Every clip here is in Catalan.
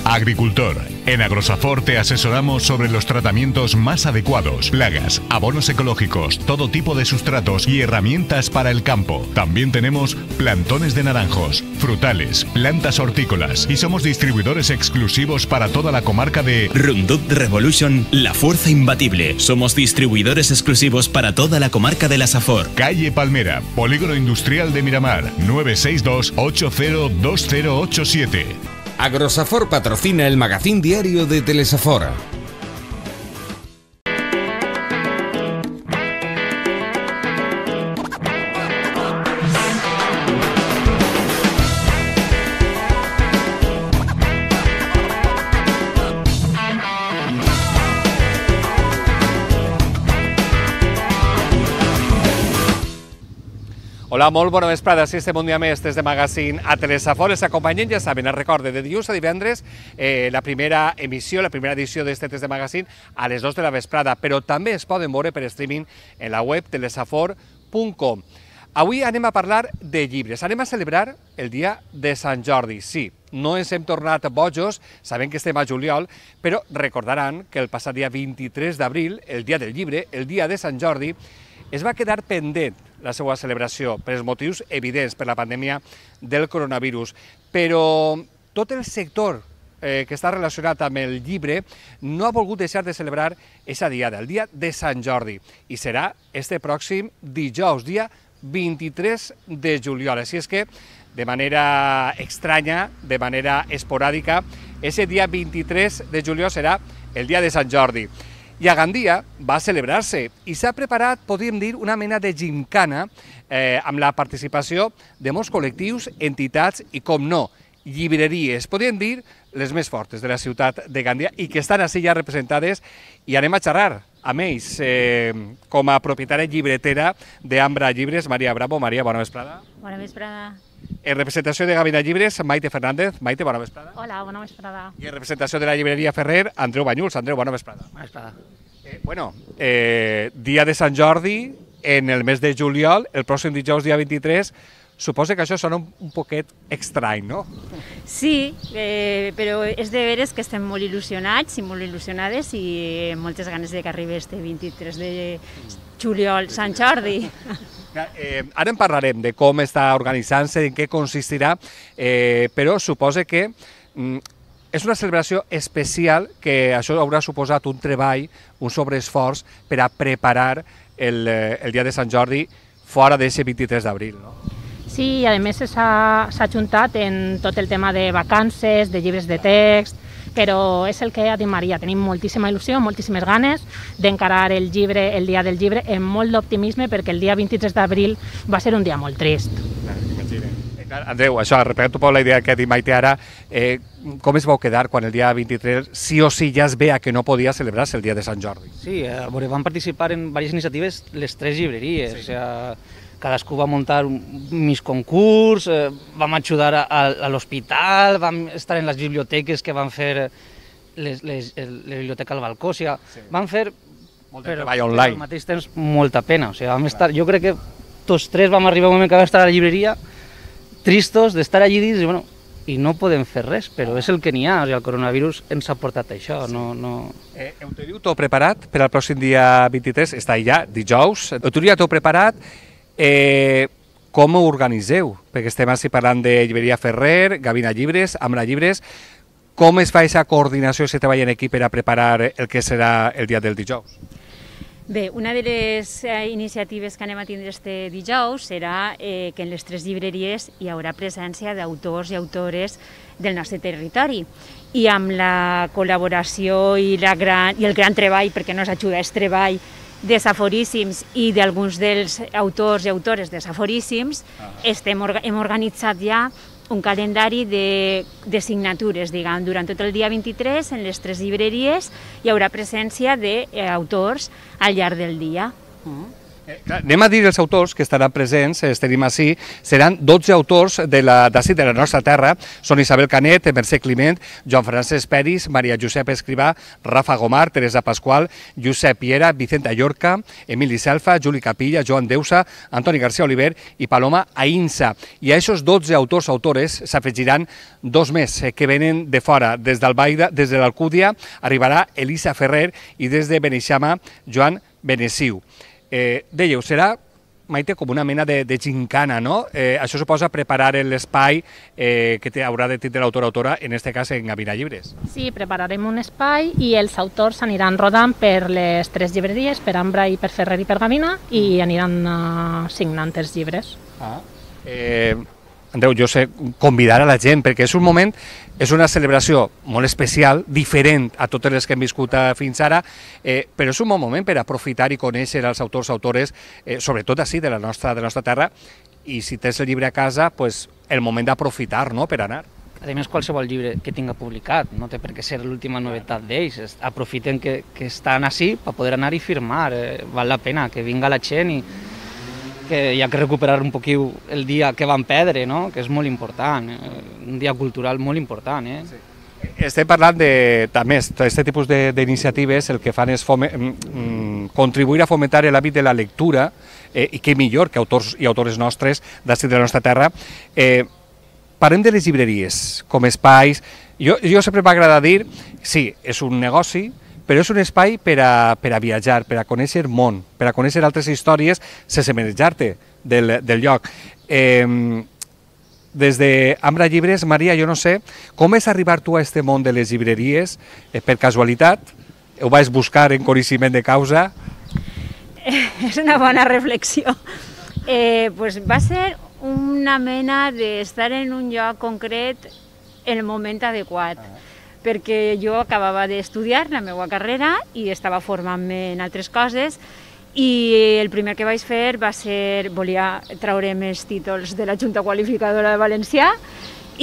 Agricultor. En Agrosafor te asesoramos sobre los tratamientos más adecuados, plagas, abonos ecológicos, todo tipo de sustratos y herramientas para el campo. También tenemos plantones de naranjos, frutales, plantas hortícolas y somos distribuidores exclusivos para toda la comarca de Roundup Revolution, la fuerza imbatible. Somos distribuidores exclusivos para toda la comarca de la Safor. Calle Palmera, Polígono Industrial de Miramar, 962 802087. Agrosafor patrocina el magazín diario de Telesafor. Hola, molt bona vesprada. Si estem un dia més des de Magazín a Telesafor. Els acompanyen, ja saben, els recorde de dilluns a divendres, la primera emissió, la primera edició d'este test de Magazín a les 2 de la vesprada, però també es poden veure per streaming en la web telesafor.com. Avui anem a parlar de llibres, anem a celebrar el dia de Sant Jordi. Sí, no ens hem tornat bojos, sabem que estem a juliol, però recordaran que el passat dia 23 d'abril, el dia del llibre, el dia de Sant Jordi, es va quedar pendent la seva celebració per els motius evidents per la pandèmia del coronavirus. Però tot el sector que està relacionat amb el llibre no ha volgut deixar de celebrar aquesta diada, el dia de Sant Jordi, i serà este pròxim dijous, dia 23 de juliol. Així és que, de manera estranya, de manera esporàdica, aquest dia 23 de juliol serà el dia de Sant Jordi. I a Gandia va celebrar-se i s'ha preparat, podríem dir, una mena de gimcana amb la participació de molts col·lectius, entitats i, com no, llibreries, podríem dir, les més fortes de la ciutat de Gandia i que estan així ja representades, i anem a xerrar amb ells com a propietària llibretera d'Ambra Llibres, Maria Bravo. Maria, bona vesprada. Bona vesprada. En representació de Gavina Llibres, Maite Fernández. Maite, bona vesprada. Hola, bona vesprada. I en representació de la llibreria Ferrer, Andreu Banyuls. Andreu, bona vesprada. Bona vesprada. Dia de Sant Jordi, en el mes de juliol, el pròxim dijous, dia 23, suposo que això sona un poquet estrany, no? Sí, però és de veres que estem molt il·lusionats i molt il·lusionades i amb moltes ganes de que arribi este 23 de juliol, Sant Jordi. Ara en parlarem de com està organitzant-se, en què consistirà, però suposo que és una celebració especial, que això haurà suposat un treball, un sobreesforç per a preparar el dia de Sant Jordi fora d'aquest 23 d'abril, no? Sí, i a més s'ha ajuntat en tot el tema de vacances, de llibres de text, però és el que ha dit Maria, tenim moltíssima il·lusió, moltíssimes ganes d'encarar el llibre, el dia del llibre, amb molt d'optimisme, perquè el dia 23 d'abril va ser un dia molt trist. Andreu, això, repetint un poc la idea que ha dit Maite ara, com es vau quedar quan el dia 23 sí o sí ja es veia que no podia celebrar-se el dia de Sant Jordi? Sí, van participar en diverses iniciatives les tres llibreries, sí. Cadascú va muntar un mig concurs, vam ajudar a l'hospital, vam estar en les biblioteques que van fer la biblioteca al balcó, o sigui, vam fer molt de treball online. Però al mateix temps molta pena, o sigui, vam estar, jo crec que tots tres vam arribar a un moment que vam estar a la llibreria tristos d'estar allí dins i bueno, i no podem fer res, però és el que n'hi ha, o sigui, el coronavirus ens ha portat això, no... Ho teniu tot preparat per al pròxim dia 23, està ja, dijous, ho teniu tot preparat. Com ho organitzeu? Perquè estem així parlant de llibreria Ferrer, Gavina Llibres, Ambra Llibres. Com es fa aquesta coordinació, aquest treball en equip per a preparar el que serà el dia del dijous? Bé, una de les iniciatives que anem a tindre este dijous serà que en les tres llibreries hi haurà presència d'autors i autores del nostre territori. I amb la col·laboració i el gran treball, perquè no ens ajuda, és treball de Saforíssims i d'alguns dels autors i autores de Saforíssims, hem organitzat ja un calendari de signatures, diguem. Durant tot el dia 23, en les tres llibreries, hi haurà presència d'autors al llarg del dia. Anem a dir els autors que estaran presents, els tenim així, seran 12 autors de la nostra terra, són Isabel Canet, Mercè Climent, Joan Francesc Peris, Maria Josep Escrivà, Rafa Gomar, Teresa Pasqual, Josep Piera, Vicenta Llorca, Emili Selfa, Juli Capilla, Joan Deusa, Antoni García Oliver i Paloma Ainsa. I a aquests 12 autors s'afegiran 2 més que venen de fora. Des d'Albaida, des de l'Alcúdia, arribarà Elisa Ferrer i des de Beneixama, Joan Benessiu. Dèieu, serà, Maite, com una mena de gincana, no? Això suposa preparar l'espai que haurà de tindre l'autor o autora, en aquest cas en Gavina Llibres. Sí, prepararem un espai i els autors aniran rodant per les 3 llibreries, per Ambra i per Ferrer i per Gavina, i aniran signant els llibres. Andreu, jo sé convidar a la gent, perquè és un moment, és una celebració molt especial, diferent a totes les que hem viscut fins ara, però és un bon moment per aprofitar i conèixer els autors, autores, sobretot així, de la nostra terra, i si tens el llibre a casa, el moment d'aprofitar, no?, per anar. A més, qualsevol llibre que tinga publicat, no té per què ser l'última novetat d'ells. Aprofiten que estan així per poder anar i firmar. Val la pena que vinga la gent i que hi ha que recuperar un poquil el dia que van perdre, no? Que és molt important, un dia cultural molt important. Sí. Estem parlant de, també, aquest tipus d'iniciatives, el que fan és contribuir a fomentar l'hàbit de la lectura, i què millor que autors i autores nostres d'ací de la nostra terra. Parlem de les llibreries com espais. Jo sempre m'agrada dir, sí, és un negoci, però és un espai per a viatjar, per a conèixer món, per a conèixer altres històries sense manejar-te del lloc. Des d'Ambra Llibres, Maria, jo no sé, com és arribar tu a aquest món de les llibreries? Per casualitat? Ho vas buscar en coneixement de causa? És una bona reflexió. Va ser una mena d'estar en un lloc concret en el moment adequat, perquè jo acabava d'estudiar la meva carrera i estava formant-me en altres coses, i el primer que vaig fer va ser, volia treure'm els títols de la Junta Qualificadora de Valencià,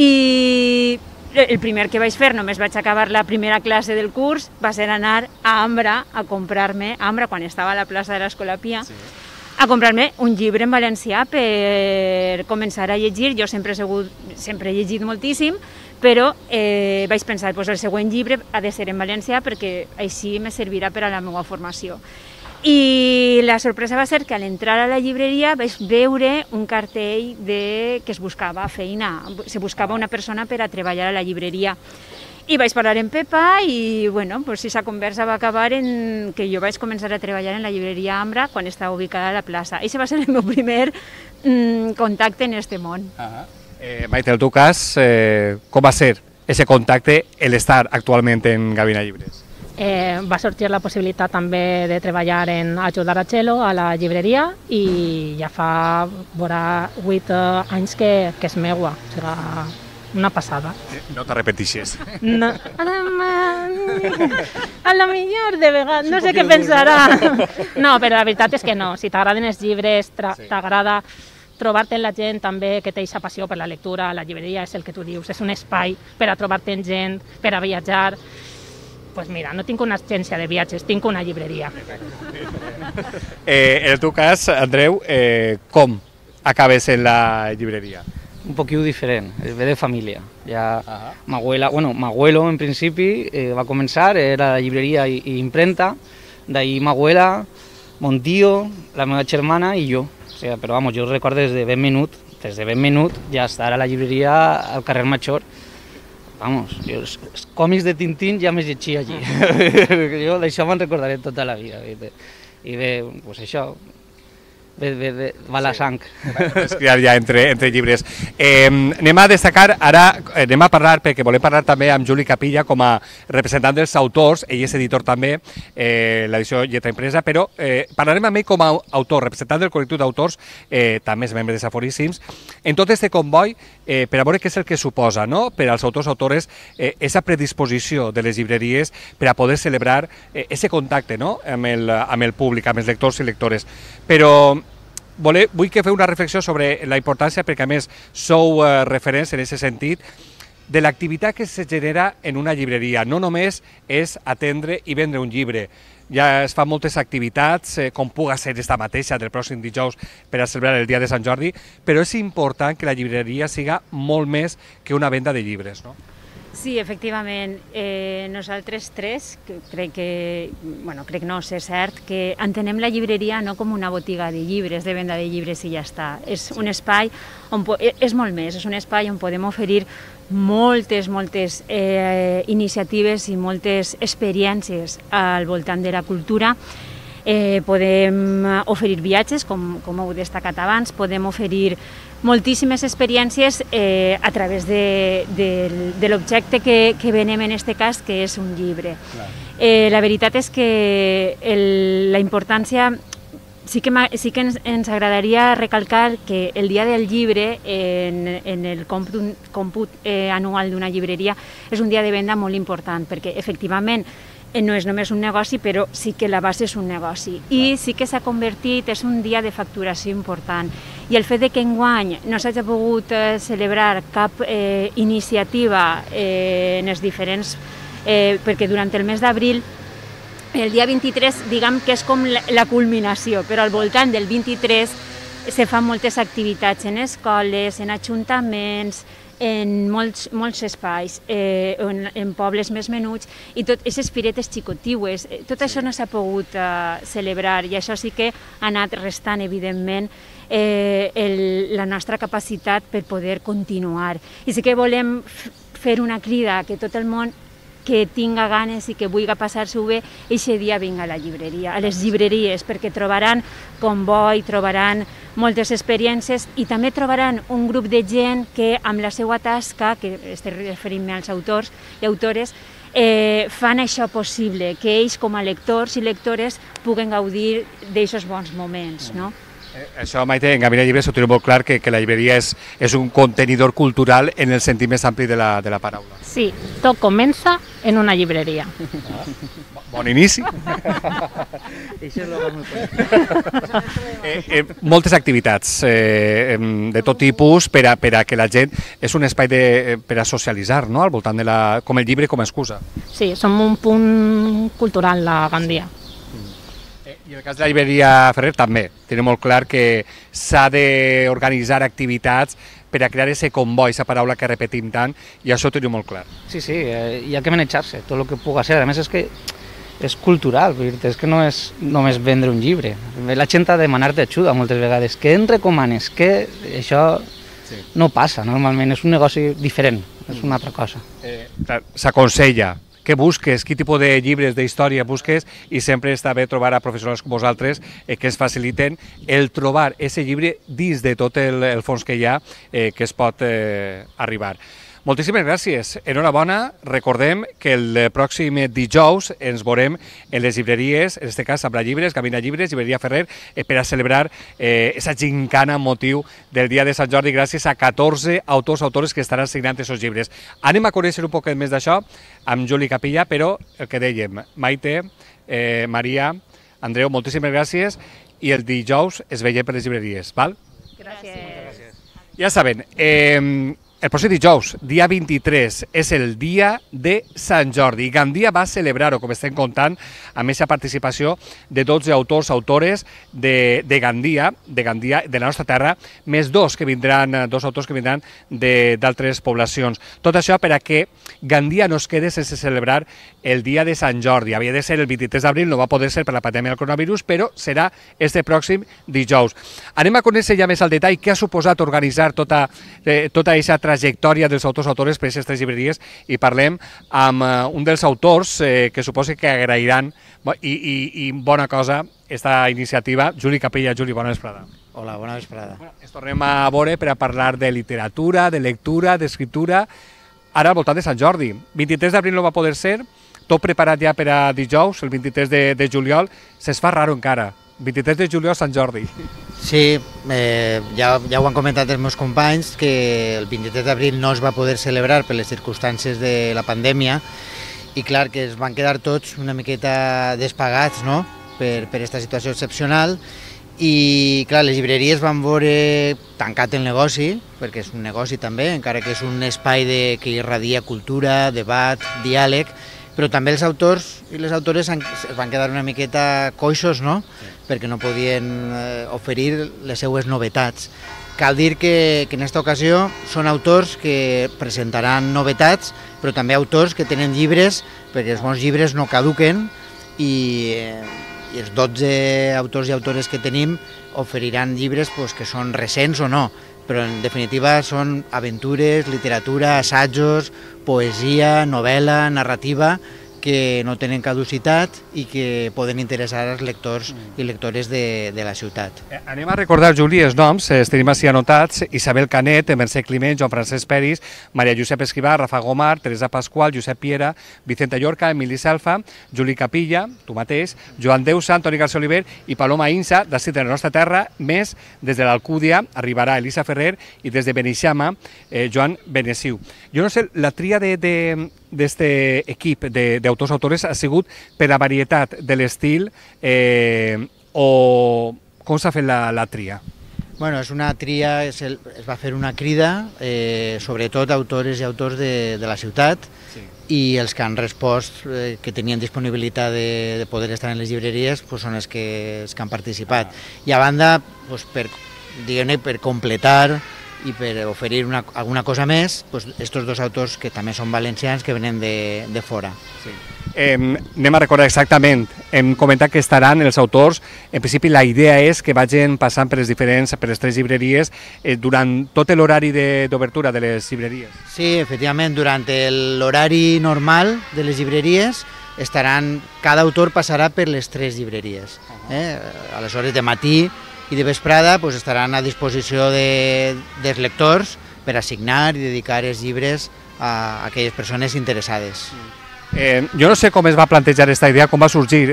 i el primer que vaig fer, només vaig acabar la primera classe del curs, va ser anar a Ambra a comprar-me, a Ambra, quan estava a la plaça de l'Escolapia, a comprar-me un llibre en valencià per començar a llegir. Jo sempre he llegit moltíssim, però vaig pensar, el següent llibre ha de ser en valencià perquè així me servirà per a la meva formació. I la sorpresa va ser que a l'entrar a la llibreria vaig veure un cartell que es buscava feina, se buscava una persona per a treballar a la llibreria. I vaig parlar amb Pepa i, bueno, aquesta conversa va acabar en que jo vaig començar a treballar en la llibreria Ambra quan estava ubicada a la plaça. Aquest va ser el meu primer contacte en aquest món. Maite, en el teu cas, com va ser aquest contacte, l'estar actualment en Gavina Llibres? Va sorgir la possibilitat també de treballar en ajudar a Txelo a la llibreria i ja fa 8 anys que és meua, o sigui, una passada. No t'arrepentixes. No. A la millor de vegades, no sé què pensarà. No, però la veritat és que no, si t'agraden els llibres, t'agrada trobar-te amb la gent també que té aquesta passió per la lectura, la llibreria és el que tu dius, és un espai per a trobar-te amb gent, per a viatjar. Doncs mira, no tinc una agència de viatges, tinc una llibreria. En el teu cas, Andreu, com acabes en la llibreria? Un poquito diferent, ve de família. Ja m'abuelo en principi va començar, era la llibreria i imprenta, d'ahí m'abuela, mon tío, la meva germana i jo. O sea, però vamos, jo recordo des de ben menut ja estar a la llibreria al carrer Major. Vamos, jo els còmics de Tintín ja m'he llegit allí. Jo d'això me'n recordaré tota la vida. I bé, doncs això, va la sang. És criar ja entre llibres. Anem a destacar, ara anem a parlar, perquè volem parlar també amb Juli Capilla com a representant dels autors, ell és editor també, l'edició Lletra Impresa, però parlarem amb ell com a autor, representant del col·lectiu d'autors, també és membre de Saforíssims, en tot aquest comboi, per a veure què és el que suposa, no?, per als autors autores, aquesta predisposició de les llibreries per a poder celebrar aquest contacte, no?, amb el públic, amb els lectors i lectores. Però vull que feu una reflexió sobre la importància, perquè a més sou referents en aquest sentit, de l'activitat que se genera en una llibreria. No només és atendre i vendre un llibre. ja es fan moltes activitats, com puga ser esta mateixa del pròxim dijous per a celebrar el dia de Sant Jordi, però és important que la llibreria siga molt més que una venda de llibres, no? Sí, efectivament. Nosaltres tres, crec no, és cert, que entenem la llibreria no com una botiga de llibres, de venda de llibres i ja està. És un espai on és molt més, és un espai on podem oferir moltes iniciatives i moltes experiències al voltant de la cultura. Podem oferir viatges, com heu destacat abans, podem oferir moltíssimes experiències a través de l'objecte que venem en aquest cas, que és un llibre. La veritat és que la importància, sí que ens agradaria recalcar que el dia del llibre en el còmput anual d'una llibreria és un dia de venda molt important, perquè efectivament no és només un negoci, però sí que la base és un negoci. I sí que s'ha convertit, és un dia de facturació important. I el fet que enguany no s'hagi pogut celebrar cap iniciativa en els diferents... perquè durant el mes d'abril, el dia 23, diguem que és com la culminació, però al voltant del 23 se fan moltes activitats en escoles, en ajuntaments, en molts espais, en pobles més menuts, i tot aquestes firetes xicotiues, tot això no s'ha pogut celebrar, i això sí que ha anat restant, evidentment, la nostra capacitat per poder continuar. I sí que volem fer una crida que tot el món que tinga ganes i que vulgui passar-s'ho bé, eixe dia vinga a la llibreria, a les llibreries, perquè trobaran comboi, trobaran moltes experiències i també trobaran un grup de gent que amb la seva tasca, que estic referint-me als autors i autores, fan això possible, que ells com a lectors i lectores puguen gaudir d'aquests bons moments, no? Això, Maite, en Gavina Llibres ho tenim molt clar, que la llibreria és un contenidor cultural en el sentit més ampli de la paraula. Sí, tot comença en una llibreria. Bon inici. Moltes activitats de tot tipus per a que la gent... És un espai per a socialitzar, no?, al voltant com el llibre com a excusa. Sí, som un punt cultural, la Gandia. I en el cas de la llibreria Ferrer també. Tenim molt clar que s'ha d'organitzar activitats per a crear aquest comboi, aquesta paraula que repetim tant, i això ho tenim molt clar. Sí, hi ha que manejar-se, tot el que puga ser. A més, és que és cultural, és que no és només vendre un llibre. La gent ha de demanar-te ajuda moltes vegades. Què em recomanes? Que això no passa, normalment. És un negoci diferent, és una altra cosa. S'aconsella. Què busques, quin tipus de llibres d'història busques, i sempre està bé trobar a professionals com vosaltres que ens faciliten el trobar aquest llibre dins de tot el fons que hi ha que es pot arribar. Moltíssimes gràcies, enhorabona. Recordem que el pròxim dijous ens veurem en les llibreries, en aquest cas amb la Llibres, Gavina Llibres, Llibreria Ferrer, per a celebrar aquesta gincana amb motiu del dia de Sant Jordi, gràcies a 14 autors que estaran signant aquests llibres. Anem a conèixer un poquet més d'això amb Juli Capilla, però el que dèiem, Maite, Maria, Andreu, moltíssimes gràcies, i el dijous es veiem per les llibreries, val? Gràcies. Ja saben, el pròxim dijous, dia 23, és el dia de Sant Jordi. Gandia va celebrar-ho, com estem contant, amb aquesta participació de 12 autors de Gandia, de la nostra terra, més dos autors que vindran d'altres poblacions. Tot això per a que Gandia no es quede sense celebrar el dia de Sant Jordi. Havia de ser el 23 d'abril, no va poder ser per la pandèmia del coronavirus, però serà este pròxim dijous. Anem a conèixer ja més al detall què ha suposat organitzar tota aquesta trajectòria dels autors per aquestes llibreries, i parlem amb un dels autors que suposo que agrairan, i bona cosa, aquesta iniciativa. Juli Capella. Juli, bona vesprada. Hola, bona vesprada. Ens tornem a veure per a parlar de literatura, de lectura, d'escriptura, ara al voltant de Sant Jordi. 23 d'abril no va poder ser, tot preparat ja per a dijous, el 23 de juliol, se'ns fa raro encara. 23 de juliol, Sant Jordi. Sí, ja ho han comentat els meus companys, que el 23 d'abril no es va poder celebrar per les circumstàncies de la pandèmia, i clar que es van quedar tots una miqueta despagats, no?, per aquesta situació excepcional, i clar, les llibreries van veure tancat el negoci, perquè és un negoci també, encara que és un espai que irradia cultura, debat, diàleg. però també els autors i les autores es van quedar una miqueta coixos, no? Perquè no podien oferir les seues novetats. Cal dir que en aquesta ocasió són autors que presentaran novetats, però també autors que tenen llibres, perquè els bons llibres no caduquen, i els 12 autors i autores que tenim oferiran llibres que són recents o no, però en definitiva són aventures, literatura, assajos, poesia, novel·la, narrativa, que no tenen caducitat i que poden interessar als lectors i lectores de la ciutat. Anem a recordar, Juli, els noms, els tenim així anotats: Isabel Canet, Mercè Climent, Joan Francesc Peris, Maria Josep Escrivà, Rafa Gomar, Teresa Pasqual, Josep Piera, Vicenta Llorca, Emili Selfa, Juli Capilla, tu mateix, Joan Deusa, Antoni García Oliver i Paloma Insa, d'ací de la nostra terra, més des de l'Alcúdia arribarà Elisa Ferrer i des de Beneixama, Joan Benessiu. Jo no sé, la tria d'aquest equip d'autors-autores ha sigut per la varietat de l'estil o com s'ha fet la tria? Bueno, és una tria, es va fer una crida, sobretot autores i autors de la ciutat, i els que han respost, que tenien disponibilitat de poder estar en les llibreries, són els que han participat. I a banda, per completar i per oferir alguna cosa més, estos dos autors que també són valencians, que venen de fora. Anem a recordar exactament, hem comentat que estaran els autors, en principi la idea és que vagin passant per les tres llibreries durant tot l'horari d'obertura de les llibreries. Sí, efectivament, durant l'horari normal de les llibreries cada autor passarà per les tres llibreries. A les hores de matí i de vesprada estaran a disposició dels lectors per assignar i dedicar els llibres a aquelles persones interessades. Jo no sé com es va plantejar aquesta idea, com va sorgir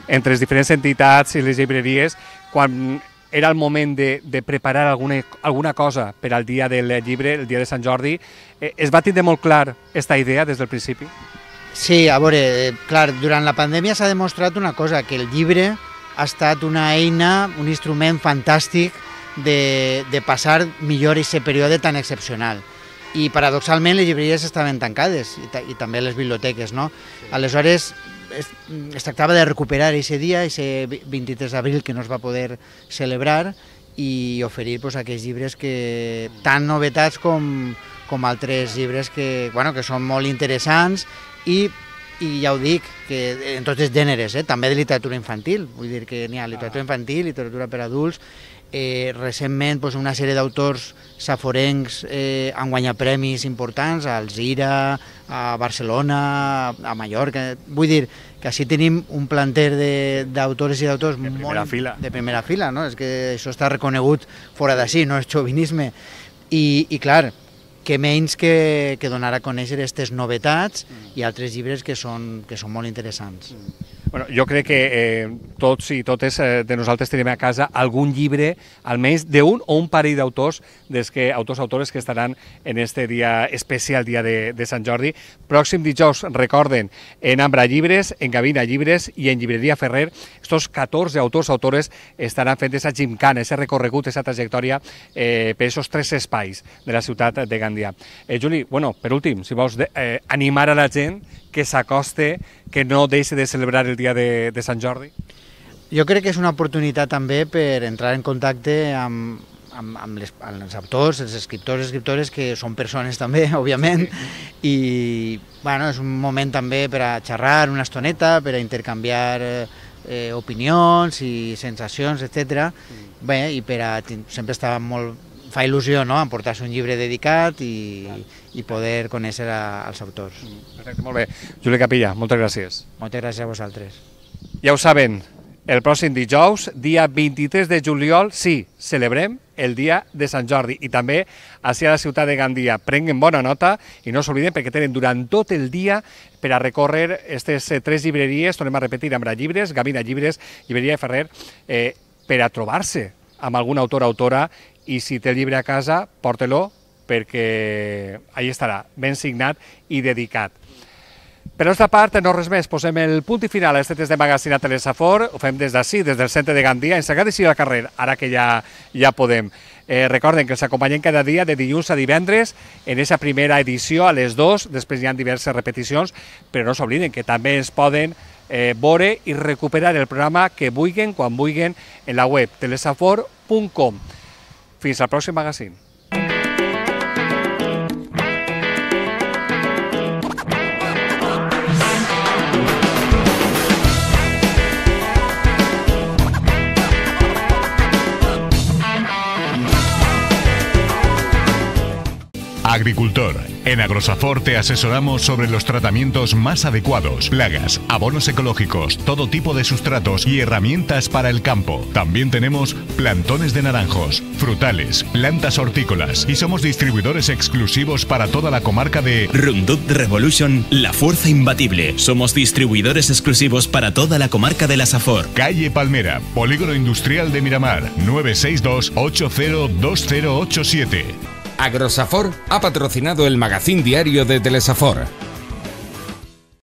entre les diferents entitats i les llibreries quan era el moment de preparar alguna cosa per al dia del llibre, el dia de Sant Jordi. Es va tindre molt clar aquesta idea des del principi? Sí, a veure, clar, durant la pandèmia s'ha demostrat una cosa, que el llibre ha estat una eina, un instrument fantàstic de passar millor aquest període tan excepcional. I paradoxalment les llibreries estaven tancades i també les biblioteques, no? Aleshores es tractava de recuperar aquest dia, aquest 23 d'abril que no es va poder celebrar, i oferir aquells llibres que tan novetats com altres llibres que són molt interessants i ja ho dic, que en tots els gèneres, també de literatura infantil, vull dir que n'hi ha literatura infantil, literatura per adults. Recentment una sèrie d'autors saforencs han guanyat premis importants a Alzira, a Barcelona, a Mallorca. Vull dir que així tenim un planter d'autores i d'autors de primera fila, no? És que això està reconegut fora d'ací, no és xovinisme. I clar, que menys que donar a conèixer aquestes novetats i altres llibres que són molt interessants. Bueno, jo crec que tots i totes de nosaltres tenim a casa algun llibre, almenys d'un o un parell d'autors, autors que estaran en este dia especial, dia de Sant Jordi. Pròxim dijous, recorden, en Ambra Llibres, en Gavina Llibres i en Llibreria Ferrer, estos 14 autors estaran fent aquesta gimcana, aquest recorregut, aquesta trajectòria per aquests tres espais de la ciutat de Gandia. Juli, bueno, per últim, si vols animar a la gent que s'acoste, que no deixi de celebrar el dia de Sant Jordi? Jo crec que és una oportunitat també per entrar en contacte amb els autors, els escriptores, que són persones també, òbviament, i és un moment també per a xerrar una estoneta, per a intercanviar opinions i sensacions, etc. Bé, i sempre estava molt... Fa il·lusió, no?, emportar-se un llibre dedicat i poder conèixer els autors. Perfecte, molt bé. Juli Capilla, moltes gràcies. Moltes gràcies a vosaltres. Ja ho saben, el pròxim dijous, dia 23 de juliol, sí, celebrem el dia de Sant Jordi i també així a la ciutat de Gandia. Prenguen bona nota i no s'obliden perquè tenen durant tot el dia per a recórrer aquestes tres llibreries, tornem a repetir, Ambra Llibres, Gavina Llibres, Llibreria Ferrer, per a trobar-se amb algun autor o autora, i si té el llibre a casa, porta-lo perquè allà estarà, ben signat i dedicat. Per la nostra part, no res més, posem el punt i final a aquest test de magazine a Telesafor, ho fem des d'ací, des del centre de Gandia, ens agrada seguir al carrer, ara que ja podem. Recorden que els acompanyem cada dia de dilluns a divendres en aquesta primera edició a les 2, després hi ha diverses repeticions, però no s'obliden que també es poden veure i recuperar el programa que vulguin, quan vulguin, en la web telesafor.com. Fins al pròxim magazine. Agricultor. En Agrosafor te asesoramos sobre los tratamientos más adecuados, plagas, abonos ecológicos, todo tipo de sustratos y herramientas para el campo. También tenemos plantones de naranjos, frutales, plantas hortícolas y somos distribuidores exclusivos para toda la comarca de Roundup Revolution, la fuerza imbatible. Somos distribuidores exclusivos para toda la comarca de la Safor. Calle Palmera, Polígono Industrial de Miramar, 962 802087. Agrosafor ha patrocinado el magazín diario de Telesafor.